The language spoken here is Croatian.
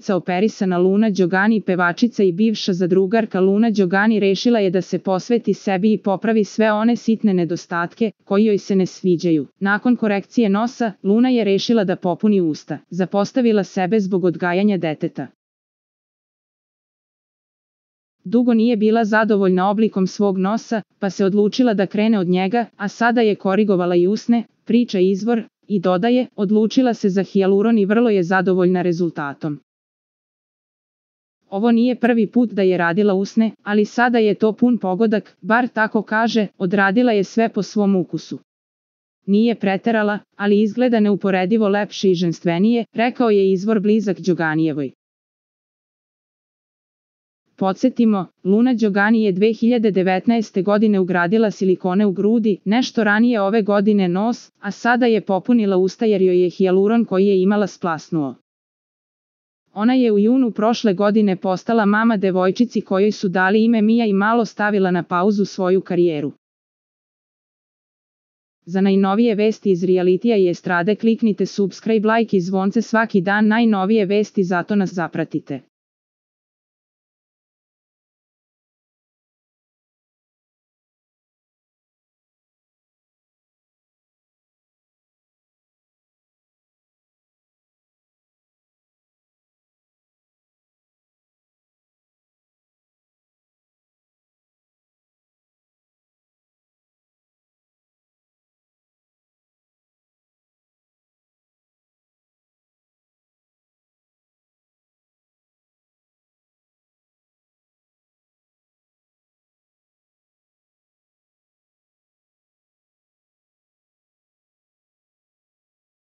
glumica operisana Luna Đogani, pevačica i bivša zadrugarka Luna Đogani, rešila je da se posveti sebi i popravi sve one sitne nedostatke koji joj se ne sviđaju. Nakon korekcije nosa, Luna je rešila da popuni usta. Zapostavila sebe zbog odgajanja deteta. Dugo nije bila zadovoljna oblikom svog nosa, pa se odlučila da krene od njega, a sada je korigovala i usne, priča izvor, i dodaje, odlučila se za hijaluron i vrlo je zadovoljna rezultatom. Ovo nije prvi put da je radila usne, ali sada je to pun pogodak, bar tako kaže, odradila je sve po svom ukusu. Nije preterala, ali izgleda neuporedivo lepše i ženstvenije, rekao je izvor blizak Đoganijevoj. Podsjetimo, Luna Đogani je 2019. godine ugradila silikone u grudi, nešto ranije ove godine nos, a sada je popunila usta jer joj je hijaluron koji je imala splasnuo. Ona je u junu prošle godine postala mama devojčici kojoj su dali ime Mija i malo stavila na pauzu svoju karijeru. Za najnovije vesti iz realitija i estrade kliknite subscribe, like i zvonce svaki dan, najnovije vesti, zato nas zapratite.